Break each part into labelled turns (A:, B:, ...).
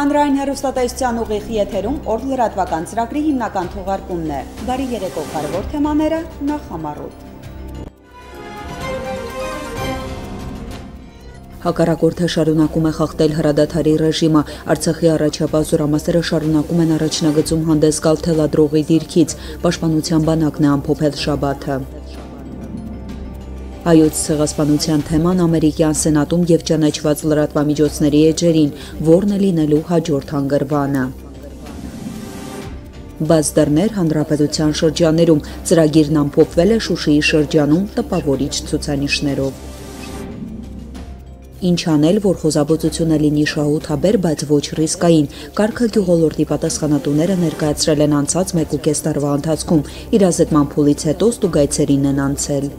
A: Հանրային հեռուստատեսության ուղիղ եթերում օր լրատվական ծրագրի հիմնական թողարկումն է։ Բարի երեկո, կարևոր թեմաները նախ համառոտ։ Հակառակորդը շարունակում է խախտել հրադադարի ռեժիմը, Արցախի առաջապահ զորամասերը շարունակում են առաջնագծում հանդես գալ թելադրողի դիրքից, Պաշտպանության բանակն է ամփոփել շաբաթը։ Հայոց ցեղասպանության թեման ամերիկյան սենատում եւ ճանաչված լրատվամիջոցների էջերին, որն է լինելու հաջորդ հանգրվանը։ Բաց դռներ հանրապետության շրջաներում, ծրագիրն ամփոփվել է Շուշիի շրջանում տպավորիչ ցուցանիշներով։ Ինչ անել, որ խոզաբուծությունը լինի շահութաբեր, բայց ոչ ռիսկային, կարգը գյուղոլորտի պատասխանատուները ներկայացրել են անցած 1.5 տարվա ընթացքում, իրազեկման փուլից հետո ստուգայցերին են անցել։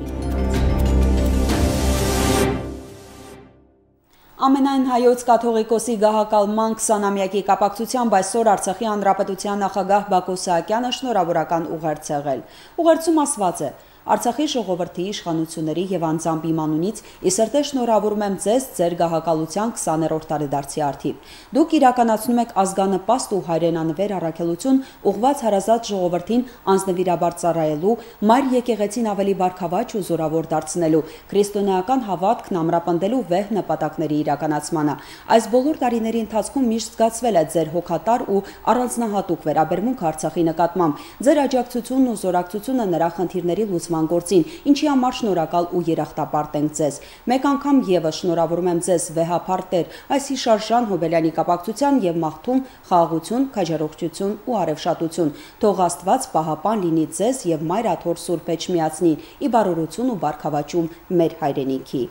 A: Ամենայն հայոց կաթողիկոսի գահակալման 20-ամյակի կապակցությամբ այսօր Արցախի հանրապետության նախագահ Բակո Սահակյանը շնորհավորական ուղերձ եղել։ Ուղերձում ասված է. Արցախի ժողովրդի իշխանությունների եւ անձամբ իմ անունից ի սրտե շնորհավորում եմ ձեզ ձեր գահակալության 20-րդ տարեդարձի արդիվ։ Դուք իրականացնում եք ազգանպաստ ու հայրենանվեր առաքելություն ուղղված հարազատ ժողովրդին անձնվիրաբար ծառայելու, մայր եկեղեցին ավելի բարգավաճ ու զորավոր դարձնելու, քրիստոնեական հավատքն ամրապնդելու վեհ նպատակների իրականացմանը։ Այս բոլոր տարիների ընթացքում միշտ զգացվել է ձեր հոգատար ու առանձնահատուկ վերաբերմունք Արցախի նկատմամբ, ձեր աջակցությունն ու զորակցությունը նրա խնդիրների լուծման գործին, ինչի համար շնորհակալ ու երախտապարտ ենք ձեզ։ Մեկ անգամ եւս շնորհավորում եմ ձեզ վեհապար Տեր այս հիշարժան Հոբելյանի կապակցության եւ մաղթում խաղաղություն, քաջառողջություն ու արևշատություն։ Թող Աստված պահապան լինի ձեզ եւ Մայր Աթոռ Սուրբ Էջմիածնի ի բարօրություն ու բարգավաճում մեր հայրենիքի։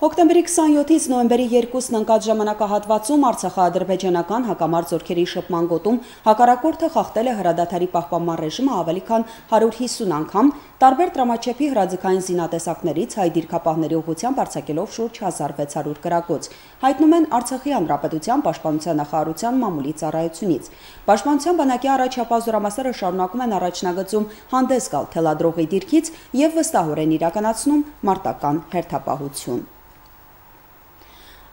A: Հոկտեմբերի 27-ից նոյեմբերի 2-ն ընկած ժամանակահատվածում արցախա-ադրբեջանական հակամարտ զորքերի շփման գոտում հակառակորդը խախտել է հրադադարի պահպանման ռեժիմը ավելի քան 150 անգամ, տարբեր տրամաչափի հրաձգային զինատեսակներից հայ դիրքապահների ուղղությամբ արձակելով շուրջ 1600 կրակոց, հայտնում են Արցախի հանրապետության պաշտպանության նախարարության մամուլի ծառայությունից։ Պաշտպանության բանակի առաջապահ զորամասերը շարունակում են առաջնագծում հանդես գալ թելադրողի դիրքից եւ վստահորեն իրականացնում մարտական հերթապահություն։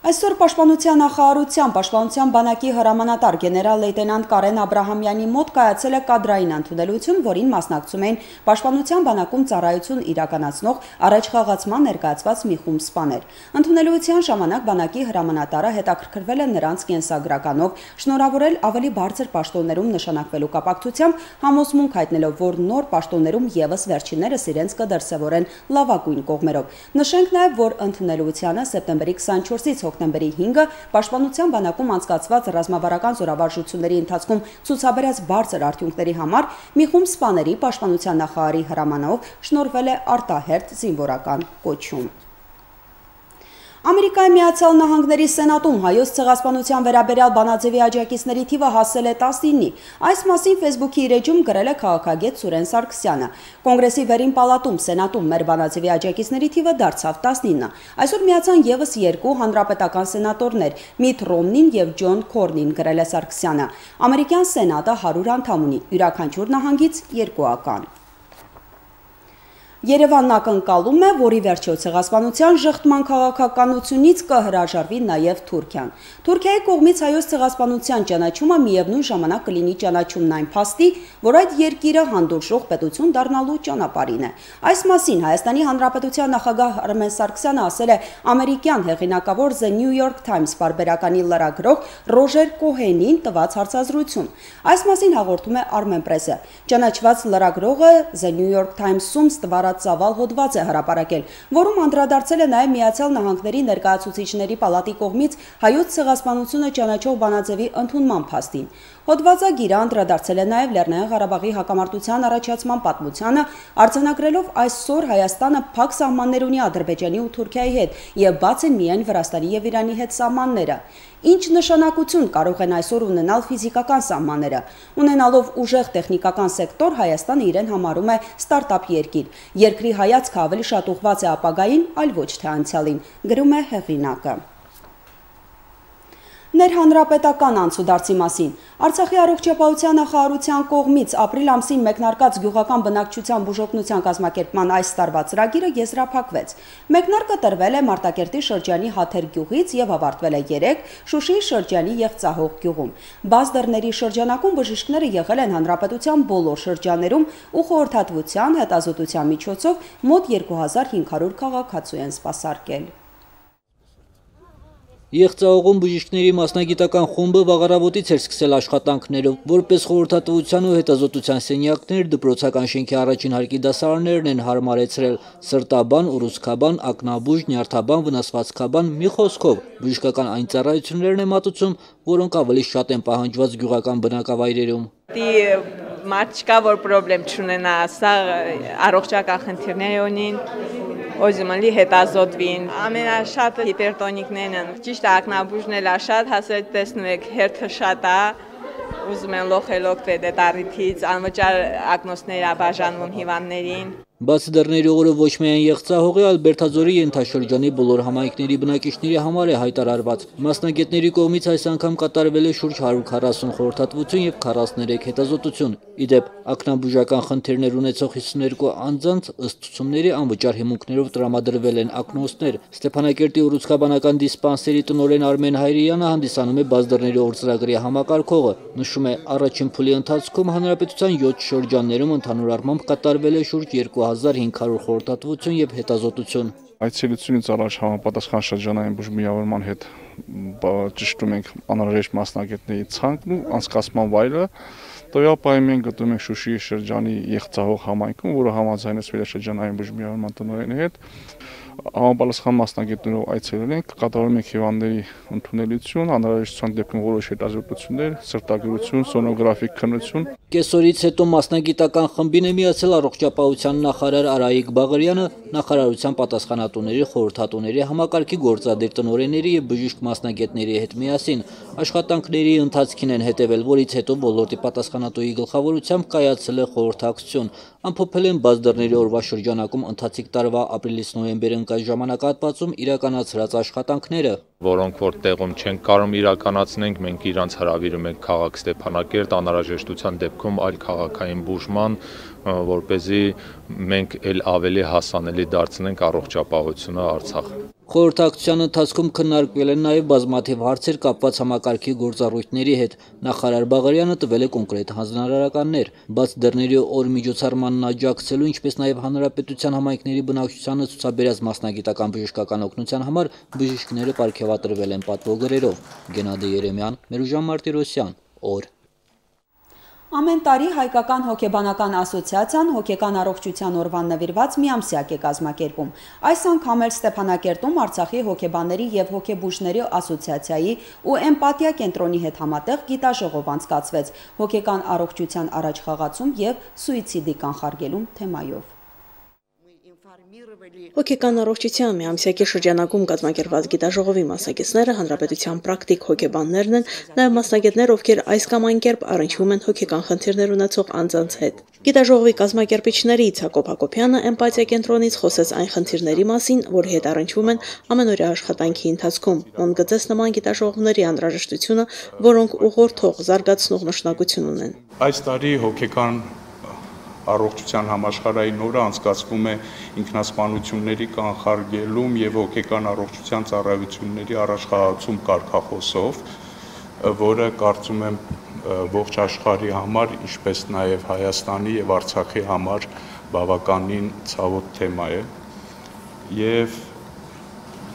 A: Այսօր Պաշտպանության նախարարության Պաշտպանության բանակի հրամանատար գեներալ-լեյտենանտ Կարեն Աբրահամյանի մոտ կայացել է կադրային ընդունելություն, որին մասնակցում էին Պաշտպանության բանակում ծառայություն իրականացնող առաջխաղացման ներկայացված մի խումբ սպաներ։ Ընդունելության ժամանակ բանակի հրամանատարը հետաքրքրվել է նրանց կենսագրականով, շնորհավորել ավելի բարձր պաշտոններում նշանակվելու կապակցությամբ, համոզմունք հայտնելով, որ նոր պաշտոններում եւս վերջիններս իրենց կդրսևորեն լավագույն կողմերով։ Նշենք նաեւ, որ ընդունելությանը սեպտեմբերի 24-ից հոկտեմբերի 5-ը Պաշտպանության բանակում անցկացված ռազմավարական զորավարժությունների ընթացքում ցուցաբերած բարձր արդյունքների համար մի խումբ սպաների Պաշտպանության նախարարի հրամանով շնորհվել է արտահերթ զինվորական կոչում։ Ամերիկայի Միացյալ Նահանգների Սենատում հայոց ցեղասպանության վերաբերյալ բանաձևի աջակիցների թիվը հասել է 19-ի։ Այս մասին Facebook-ի իր էջում գրել է քաղաքագետ Սուրեն Սարգսյանը։ Կոնգրեսի վերին պալատում Սենատում մեր բանաձևի աջակիցների թիվը դարձավ 19։ Այսօր միացան եւս երկու հանրապետական սենատորներ՝ Միթ Ռոմնին եւ Ջոն Քորնին, գրել է Սարգսյանը։ Ամերիկյան Սենատը 100 անդամ ունի, յուրաքանչյուր նահանգից 2-ական։ Երևանն ակնկալում է, որ ի վերջո ցեղասպանության ժխտման քաղաքականությունից կհրաժարվի նաև Թուրքիան։ Թուրքիայի կողմից հայոց ցեղասպանության ճանաչումը միևնույն ժամանակ կլինի ճանաչումն այն փաստի, որ այդ երկիրը հանդուրժող պետություն դառնալու ճանապարհին է։ Այս մասին Հայաստանի Հանրապետության նախագահ Արմեն Սարգսյանը ասել է ամերիկյան հեղինակավոր The New York Times պարբերականի լրագրող Ռոժեր Կոհենին տված հարցազրույցում։ Այս մասին հաղորդում է Armenpress-ը։ Ճանաչված լրագրողը The New York Times-ում ծավալ հոդված է հրապարակել, որում անդրադարձել է նաև Միացյալ Նահանգների ներկայացուցիչների պալատի կողմից հայոց ցեղասպանությունը ճանաչող բանաձևի ընդունման փաստին։ Հոդվածագիրը անդրադարձել է նաև Լեռնային Ղարաբաղի հակամարտության առաջացման պատմությանը, արձանագրելով այսօր Հայաստանը փակ սահմաններ ունի Ադրբեջանի ու Թուրքիայի հետ եւ բաց են միայն Վրաստանի եւ Իրանի հետ սահմանները։ Ինչ նշանակություն կարող են այսօր ունենալ ֆիզիկական սահմանները։ Ունենալով ուժեղ տեխնիկական սեկտոր, Հայաստանը իրեն համարում է ստարտափ երկիր։ Երկրի հայացքը ավելի շատ ուղղված է ապագային, այլ ոչ թե անցյալին, գրում է հեղինակը։ Ներհանրապետական անցուդարձի մասին Արցախի առողջապահության նախարարության կողմից ապրիլ ամսին մեկնարկած գյուղական բնակչության բուժօգնության կազմակերպման այս տարվա ծրագիրը եզրափակվեց։ Մեկնարկը տրվել է Մարտակերտի շրջանի Հաթեր գյուղից եւ ավարտվել է 3 Շուշիի շրջանի Եղծահող գյուղում։ Բաց դռների շրջանակում բժիշկները եղել են հանրապետության բոլոր շրջաներում ու խորհրդատվության հետազոտության միջոցով մոտ 2500 քաղաքացու են սպասարկել։
B: Եղծահողում բժիշկների մասնագիտական խումբը վաղարավոտից էր սկսել աշխատանքներով, որպես խորհրդատվության ու հետազոտության սենյակներ դպրոցական շենքի առաջին հարկի դասարաններն են հարմարեցրել՝ սրտաբան, ուռուցքաբան, ակնաբուժ, նյարդաբան, վնասվածքաբան, մի խոսքով բժշկական այն ծառայություններն է մատուցում, որոնք ավելի շատ են պահանջված գյուղական բնակավայրերում։
C: Մարդ չկա, որ պրոբլեմ չունենա, սա առողջական խնդիրներ ունին, ոզիմալի հետազոտվին, ամենաշատը հիպերտոնիկներն են, ճիշտ ակնաբուժն էլ շատ, հասել տեսնում եք, հերթը շատ է, ուզում են լոխել օգտվել այդ առիթից, անվճար ակնոցներ է բաժանվում հիվանդներին։
B: Բաց դռների օրը ոչ միայն Եղծահողի, այլ Բերդաձորի ենթաշրջանի բոլոր համայնքների բնակիչների համար է հայտարարված։ Մասնագետների կողմից այս անգամ կատարվել է շուրջ 140 խորհրդատվություն եւ 43 հետազոտություն։ Իդեպ, ակնաբուժական խնդիրներ ունեցող 52 անձանց ըստ ցուցումների անվճար հիմունքներով տրամադրվել են ակնոցներ։ Ստեփանակերտի ուռուցքաբանական դիսպանսերի տնօրեն Արմեն Հայրյանը հանդիսանում է բաց դռների օր ծրագրի համակարգողը։ Նշում է, առաջին փուլի ընթացքում հանրապետության 7 շրջաններում ընդհանուր առմամբ կատարվել է շուրջ 2500 խորհրդատվություն եւ հետազոտություն։
D: Այցելությունից առաջ համապատասխան շրջանային բուժմիավորման հետ ճշտում ենք անհրաժեշտ մասնագետների ցանկն ու անցկացման վայրը։ Տվյալ պահին մենք գտնվում ենք Շուշիի շրջանի Եղծահող համայնքում, որը համաձայնեցվել է շրջանային բուժմիավորման տնօրենի հետ։ Համապատասխան մասնագետներով այցելել ենք, կատարում ենք հիվանդների ընդունելություն, անհրաժեշտության դեպքում որոշ հետազոտություններ, սրտագրություն, սոնոգրաֆիկ քննություն։
B: Կեսօրից հետո մասնագիտական խմբին է միացել առողջապահության նախարար Արայիկ Բաղարյանը, նախարարության պատասխանատուների, խորհրդատուների, համակարգի գործադիր տնօրենների եւ բժիշկ մասնագետների հետ միասին աշխատանքների ընթացքին են հետևել, որից հետո ոլորտի պատասխանատուի գլխավորությամբ կայացել է խորհրդակցություն։ Ամփոփել են բաց դռների օրվա շրջանակում ընթացիկ տարվա ապրիլից նոյեմբեր ընկած ժամանակահատվածում իրականացրած աշխատանքները,
E: որոնք որ տեղում չեն կարող իրականացնենք, մենք իրանց հրավիրում ենք քաղաք Ստեփանակերտ, անհրաժեշտության դեպքում այլ քաղաքային բուժման, որպեսզի մենք ավելի հասանելի դարձնենք առողջապահությունը Արցախ։
B: Խորհրդակցության ընթացքում քննարկվել են նաև բազմաթիվ հարցեր կապված համակարգի գործառույթների հետ։ Նախարար Բաղարյանը տվել է կոնկրետ հանձնարարականներ, բաց դռների օր միջոցառմանն աջակցելու, ինչպես նաև հանրապետության համայնքների բնակչությանը ցուցաբերած մասնագիտական բժշկական օգնության համար բժիշկները պարգևատրվել են պատվոգրերով։ Գենադի Երեմյան, Մերուժան Մարտիրոսյան, օր։
A: Ամեն տարի Հայկական հոգեբանական ասոցիացիան հոգեկան առողջության օրվան նվիրված միամսյակ է կազմակերպում։ Այս անգամ էլ Ստեփանակերտում Արցախի հոգեբանների եւ հոգեբուժների ասոցիացիայի ու էմպաթիա կենտրոնի հետ համատեղ գիտաժողով անցկացվեց հոգեկան առողջության առաջխաղացում եւ սուիցիդի կանխարգելում թեմայով։
F: Հոգեկան առողջության միամսյակի շրջանակում կազմակերպված գիտաժողովի մասնակիցները հանրապետության պրակտիկ հոգեբաններն են, նաև մասնագետներ, ովքեր այս կամ այն կերպ առնչվում են հոգեկան խնդիրներ ունեցող անձանց հետ։ Գիտաժողովի կազմակերպիչներից Հակոբ Հակոբյանը էմպաթիա կենտրոնից խոսեց այն խնդիրների մասին, որի հետ առնչվում են ամենօրյա աշխատանքի ընթացքում։ Ընդգծեց նման գիտաժողովների անհրաժեշտությունը, որոնք ուղղորդող, զարգացնող նշանակություն ունեն։
G: Այս տարի հոգեկան առողջության համաշխարհային օրը անցկացվում է ինքնասպանությունների կանխարգելում եւ հոգեկան առողջության ծառայությունների առաջխաղացում կարգախոսով, որը կարծում եմ ողջ աշխարհի համար, ինչպես նաեւ Հայաստանի եւ Արցախի համար բավականին ցավոտ թեմա է։ Եվ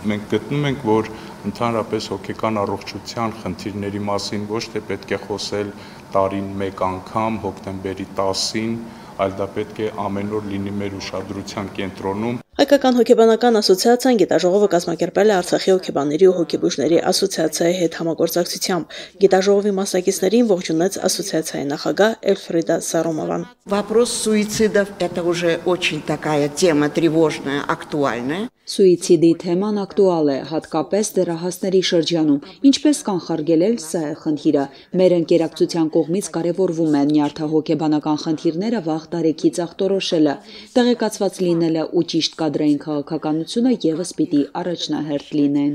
G: մենք գտնում ենք, որ ընդհանրապես հոգեկան առողջության խնդիրների մասին ոչ թե պետք է խոսել տարին մեկ անգամ, հոկտեմբերի 10-ին, այլ դա պետք է ամեն օր լինի մեր ուշադրության կենտրոնում։
F: Հայկական հոգեբանական ասոցիացիան գիտաժողովը կազմակերպել է Արցախի հոգեբանների ու հոգեբուժների ասոցիացիայի հետ համագործակցությամբ։ Գիտաժողովի մասնակիցներին ողջունեց ասոցիացիայի նախագահ Էլֆրիդա Սարոմովան։
H: Вопрос суицидов – это уже очень такая тема тревожная, актуальная.
A: Սուիցիդի թեման ակտուալ է, հատկապես դեռահասների շրջանում։ Ինչպես կանխարգելել, սա է խնդիրը։ Մեր ընկերակցության կողմից կարևորվում է նյարդահոգեբանական խնդիրները վաղ տարեքից ախտորոշելը, տեղեկացված լինելը ու ճիշտ կադրային քաղաքականությունը ևս պիտի առաջնահերթ լինեն։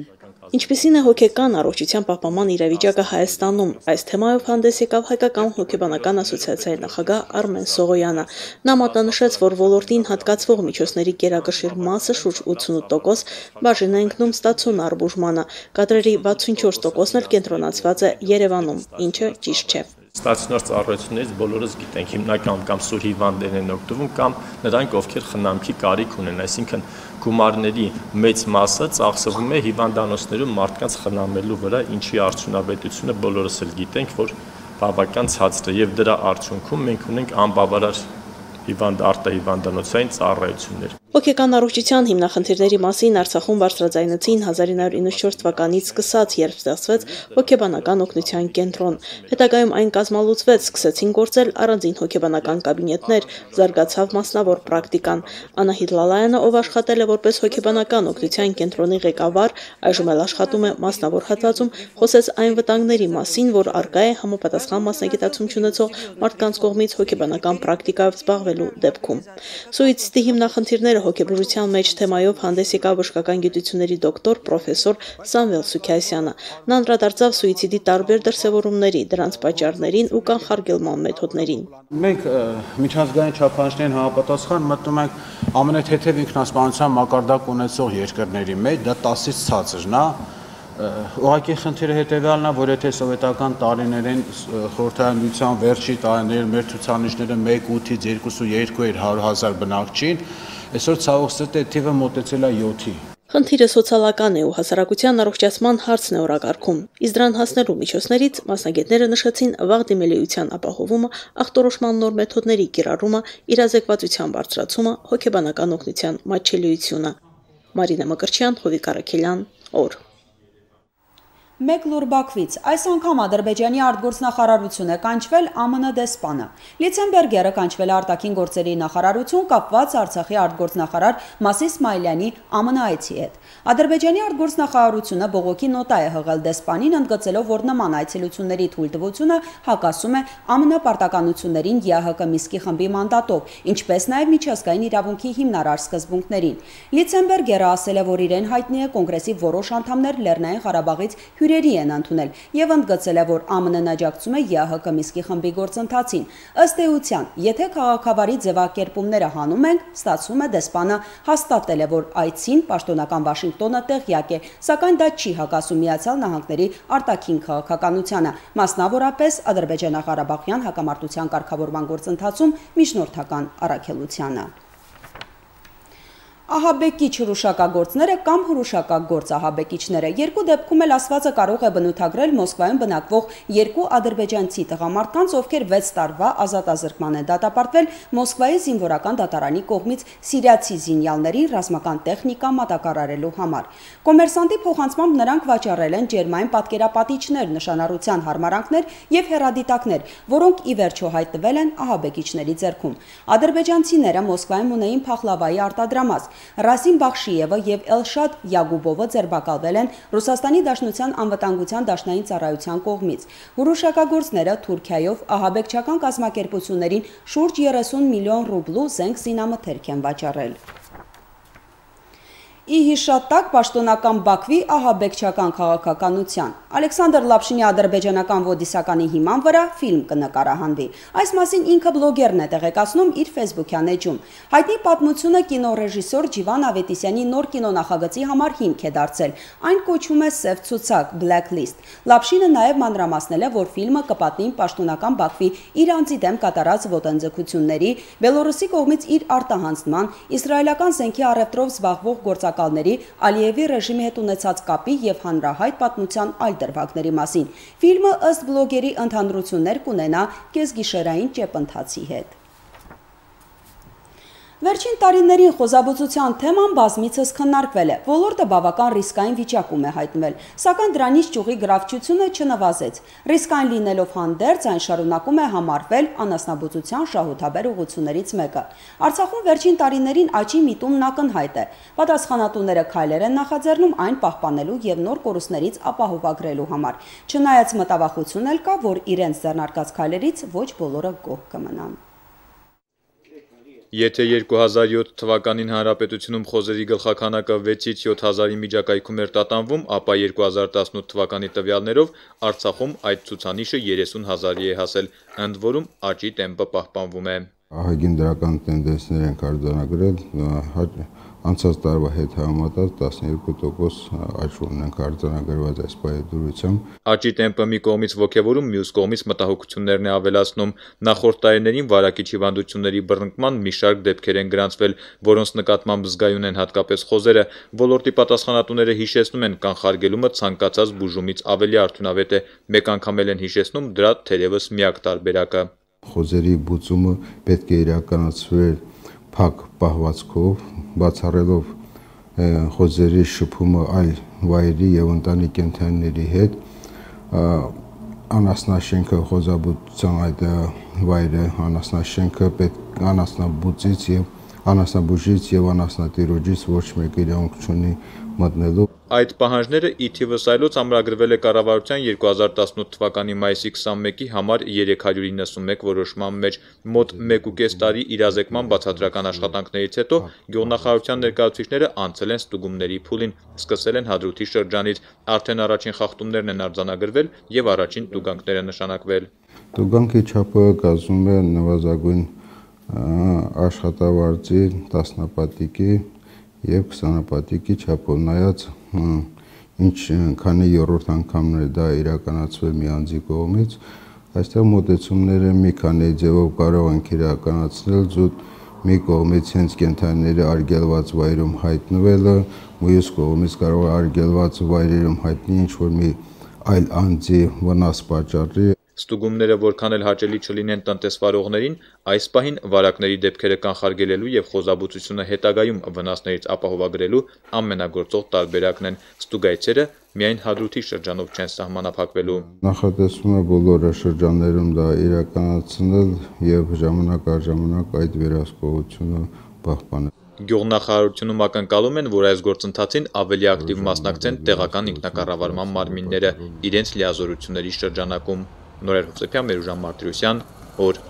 F: Ինչպիսին է հոգեկան առողջության պահպանման իրավիճակը Հայաստանում, այս թեմայով հանդես եկավ Հայկական հոգեբանական ասոցիացիայի նախագահ Արմեն Սողոյանը։ Նա մատնանշեց, որ ոլորտին հատկացվող միջոցների գերակշիռ մասը շուրջ 88% բաժին է ընկնում ստացիոնար բուժմանը, կադրերի 64%-ն էլ կենտրոնացված է Երևանում, ինչը ճիշտ չէ։
I: Ստացիոնար ծառայություններից բոլորս գիտենք, հիմնական կամ սուր հիվանդներն են օգտվում կամ նրանք, ովքեր խնամքի կարիք ունեն, այսինքն գումարների մեծ մասը ծախսվում է հիվանդանոցներում մարդկանց խնամելու վրա, ինչի արդյունավետությունը բոլորս էլ գիտենք, որ բավական ցածր է եւ դրա արդյունքում մենք ունենք անբավարար արտահիվանդանոցային ծառայություններ։
F: Հոգեկան առողջության հիմնախնդիրների մասին Արցախում բարձրաձայնեցին 1994 թվականից սկսած, երբ ստեղծվեց հոգեբանական օգնության կենտրոն։ Հետագայում այն կազմալուծվեց, սկսեցին գործել առանձին հոգեբանական կաբինետներ, զարգացավ մասնավոր պրակտիկան։ Անահիտ Լալայանը, ով աշխատել է որպես հոգեբանական օգնության կենտրոնի ղեկավար, այժմ էլ աշխատում է մասնավոր հատվածում, խոսեց այն վտանգների մասին, որ առկա է համապատասխան մասնագիտացում չունեցող մարդկանց կողմից հոգեբանական պրակտիկայով զբաղվելու դեպքում։ Սուիցիդի հիմնախնդիրները հոգեբուժության մեջ թեմայով հանդես եկավ բժշկական գիտությունների դոկտոր պրոֆեսոր Սամվել Սուքիասյանը։ Նա անդրադարձավ սուիցիդի տարբեր դրսևորումների, դրանց պատճառներին ու կանխարգելման մեթոդներին։
J: Մենք միջազգային չափանիշներին համապատասխան մտնում ենք ամենաթեթև ինքնասպանության մակարդակ ունեցող երկրների մեջ, դա 10-ից ցածրն է։ Ուղղակի խնդիրը հետևյալն է, որ եթե սովետական տարիներին խորհրդային միության վերջի տարիներին մեր ցուցանիշները 1.8-ից 2.2 էր 100,000 բնակչին, այսօր ցավոք սրտի թիվը մոտեցել է 7-ի։
F: Խնդիրը սոցիալական է ու հասարակության առողջացման հարցն է օրակարգում։ Իսկ դրան հասնելու միջոցներից մասնագետները նշեցին վաղ դիմելիության ապահովումը, ախտորոշման նոր մեթոդների կիրառումը, իրազեկվածության բարձրացումը, հոգեբանական օգնության մատչելիությունը։ Մարինա Մկրտչյան, Հովիկ Արաքելյան, օր։
A: Մեկ լուր Բաքվից այս անգամ Ադրբեջանի արտգործնախարարություն է կանչվել ԱՄՆ դեսպանը։ Լիցենբերգերը կանչվել է արտաքին գործերի նախարարություն կապված Արցախի արտգործնախարար Մասի Իսմայելյանի ԱՄՆ այցի հետ։ Ադրբեջանի արտգործնախարարությունը բողոքի նոտա է հղել դեսպանին, ընդգծելով, որ նման այցելությունների թույլտվությունը հակասում է ԱՄՆ պարտականություններին ԵԱՀԿ Միսկի խմբի մանդատով, ինչպես նաև միջազգային իրավունքի հիմնարար սկզբունքներին։ Լիցենբերգերը ասել է, որ իրեն հայտնի է կոնգրեսի որոշ անդամներ Լեռնային Ղարաբաղից հյուրերի են ընդունել եւ ընդգծել է, որ ԱՄՆ-ն աջակցում է ԵԱՀԿ Միսկի խմբի գործընթացին։ Ըստ էության, եթե քաղաքավարի ձևակերպումները հանում ենք, ստացվում է դեսպանը հաստատել է, որ այցին պաշտոնական Վաշինգտոնը տեղյակ է, սակայն դա չի հակասում Միացյալ Նահանգների արտաքին քաղաքականությանը, մասնավորապես Ադրբեջանա-Ղարաբաղյան հակամարտության կարգավորման գործընթացում միջնորդական առաքելությանը։ Ահաբեկիչ հրուշակագործները կամ հրուշակագործ ահաբեկիչները երկու դեպքում էլ ասվածը կարող է բնութագրել Մոսկվայում բնակվող երկու ադրբեջանցի տղամարդկանց, ովքեր 6 տարվա ազատազրկման են դատապարտվել Մոսկվայի զինվորական դատարանի կողմից սիրիացի զինյալներին ռազմական տեխնիկա մատակարարելու համար։ Կոմերսանտի փոխանցմամբ նրանք վաճառել են ջերմային պատկերապատիչներ, նշանառության հարմարանքներ եւ հեռադիտակներ, որոնք ի վերջո հայտնվել են ահաբեկիչների ձեռքում։ Ադրբեջանցիները Մոսկվայում ունեին փախլավայի արտադրամաս։ Ռասիմ Բախշիևը եւ Էլշադ Յագուբովը ձերբակալվել են Ռուսաստանի Դաշնության անվտանգության դաշնային ծառայության կողմից։ Հրուշակագործները Թուրքիայով ահաբեկչական կազմակերպություններին շուրջ 30 միլիոն ռուբլու զենք զինամթերք են վաճառել։ Ի հիշատակ պաշտոնական Բաքվի ահաբեկչական քաղաքականության Ալեքսանդր Լապշինի ադրբեջանական ոդիսականի հիման վրա ֆիլմ կնկարահանվի։ Այս մասին ինքը բլոգերն է տեղեկացնում իր Facebook-յան էջում։ Հայտնի պատմությունը կինոռեժիսոր Ջիվան Ավետիսյանի նոր կինոնախագծի համար հիմք է դարձել։ Այն կոչվում է Սև ցուցակ Blacklist։ Լապշինը նաև մանրամասնել է, որ ֆիլմը կպատնի պաշտոնական Բաքվի իր անձի դեմ կատարած ոտնձգությունների, Բելոռուսի կողմից իր արտահանձնման, իսրայելական զենքի առևտրով զբաղվող գործակալների, Ալիևի ռեժիմի հետ ունեցած կապի եւ հանրահայտ պատմության այլ դրվագների մասին։ Ֆիլմը ըստ բլոգերի ընդհանրություններ կունենա կեսգիշերային ճեպընթացի հետ։ Վերջին տարիներին խոզաբուծության թեման բազմիցս քննարկվել է, ոլորտը բավական ռիսկային վիճակում է հայտնվել, սակայն դրանից ճյուղի գրավչությունը չնվազեց։ Ռիսկային լինելով հանդերձ այն շարունակում է համարվել անասնաբուծության շահութաբեր ուղղություններից մեկը։ Արցախում վերջին տարիներին աճի միտումն ակնհայտ է։ Պատասխանատուները քայլեր են նախաձեռնում այն պահպանելու եւ նոր կորուստներից ապահովագրելու համար։ Չնայած մտավախություն էլ կա, որ իրենց ձեռնարկած քայլերից ոչ բոլորը գոհ կմնան։
E: Եթե 2007 թվականին հանրապետությունում խոզերի գլխաքանակը 6-ից 7000-ի միջակայքում էր տատանվում, ապա 2018 թվականի տվյալներով Արցախում այդ ցուցանիշը 30000-ի է հասել, ընդ որում աճի տեմպը պահպանվում է։
K: Ահագին դրական տենդենսներ են արձանագրել, անցած տարվա հետ համեմատած 12% աճ ունենք արձանագրված այս պայմանությամբ։
E: Աճի տեմպը մի կողմից ոգևորում, մյուս կողմից մտահոգություններն է ավելացնում։ Նախորդ տարիներին վարակիչ հիվանդությունների բռնկման մի շարք դեպքեր են գրանցվել, որոնց նկատմամբ զգայուն են հատկապես խոզերը։ Ոլորտի պատասխանատուները հիշեցնում են, կանխարգելումը ցանկացած բուժումից ավելի արդյունավետ է։ Մեկ անգամ էլ են հիշեցնում դրա թերևս միակ տարբերակը։
K: Խոզերի բուծումը պետք է իրականացվեր փակ պահվածքով, բացառելով խոզերի շփումը այլ վայրի եւ ընտանի կենդանիների հետ, անասնաշենքը խոզաբուծության այդ վայրը, անասնաշենքը պետք անասնաբուծից եւ անասնաբուժից եւ անասնատիրոջից ոչ մեկը իրավունք չունի մտնելու։
E: Այդ պահանջները ի թիվս այլոց ամրագրվել է կառավարության 2018 թվականի մայիսի 21-ի համար 391 որոշման մեջ։ Մոտ 1.5 տարի իրազեկման բացատրական աշխատանքներից հետո գյուղնախարարության ներկայացուցիչները անցել են ստուգումների փուլին, սկսել են Հադրութի շրջանից, արդեն առաջին խախտումներն են արձանագրվել եւ առաջին տուգանքները նշանակվել։
K: Տուգանքի չափը կազմում է նվազագույն աշխատավարձի 10 պատիկի եւ 20 պատիկի չափով, նայած քանի երրորդ անգամն է դա իրականացվել մի անձի կողմից, այստեղ մոտեցումները մի քանի ձևով կարող ենք իրականացնել զուտ մի կողմից հենց կենդանիների արգելված վայրում հայտնվելը, մյուս կողմից կարող է արգելված վայրերում հայտնի ինչ-որ մի այլ անձի վնաս պատճառի։
E: Ստուգումները որքան էլ հաճելի չլինեն տնտեսվարողներին, այս պահին վարակների դեպքերը կանխարգելելու եւ խոզաբուծությունը հետագայում վնասներից ապահովագրելու ամենագործող տարբերակն են։ Ստուգայցերը միայն Հադրութի շրջանով չեն սահմանափակվելու։
K: Նախատեսվում է բոլոր շրջաններում դա իրականացնել եւ ժամանակ առ ժամանակ այդ վերահսկողությունը պահպանել։
E: Գյուղնախարարությունում ակնկալում են, որ այս գործընթացին ավելի ակտիվ մասնակցեն տեղական ինքնակառավարման մարմինները իրենց լիազորությունների շրջանակում։ Նորեր Հովսեփյան, Մերուժան Մարտիրոսյան, օր։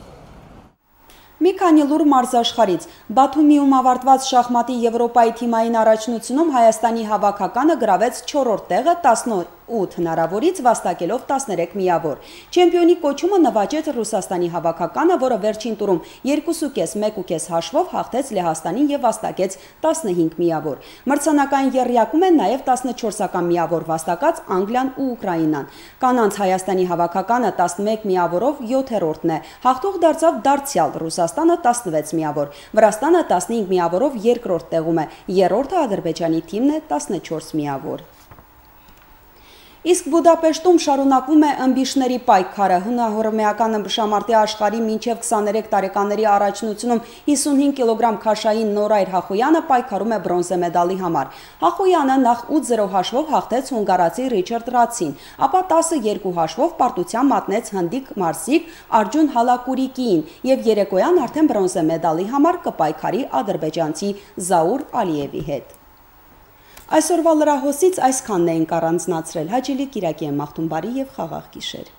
A: Մի քանի լուր մարզաշխարից Բաթումիում ավարտված շախմատի Եվրոպայի թիմային առաջնությունում Հայաստանի հավաքականը գրավեց 4-րդ տեղը 18 հնարավորից վաստակելով 13 միավոր։ Չեմպիոնի կոչումը նվաճեց Ռուսաստանի հավաքականը, որը վերջին տուրում 2.5-1.5 հաշվով հաղթեց Լեհաստանին եւ վաստակեց 15 միավոր։ Մրցանակային եռյակում են նաեւ 14-ական միավոր վաստակած Անգլիան ու Ուկրաինան։ Կանանց Հայաստանի հավաքականը 11 միավորով 7-րդն է։ Հաղթող դարձավ դարձյալ Ռուսաստանը 16 միավոր, Վրաստանը 15 միավորով երկրորդ տեղում է, երրորդը Ադրբեջանի թիմն է 14 միավոր։ Իսկ Բուդապեշտում շարունակվում է ըմբիշների պայքարը։ Հունահռոմեական ըմբշամարտի աշխարհի մինչև 23 տարեկաների առաջնությունում 55 կիլոգրամ քաշային Նորայր Հախոյանը պայքարում է բրոնզե մեդալի համար։ Հախոյանը նախ 8-0 հաշվով հաղթեց հունգարացի Ռիչարդ Ռացին, ապա 10-2 հաշվով պարտության մատնեց հնդիկ մարզիկ Արջուն Հալակուրիկիին եւ երեկոյան արդեն բրոնզե մեդալի համար կպայքարի ադրբեջանցի Զաուր Ալիևի հետ։ Այսօրվա լրահոսից այսքանն էինք առանձնացրել։ Հաճելի կիրակի եմ մաղթում, բարի եւ խաղաղ գիշեր։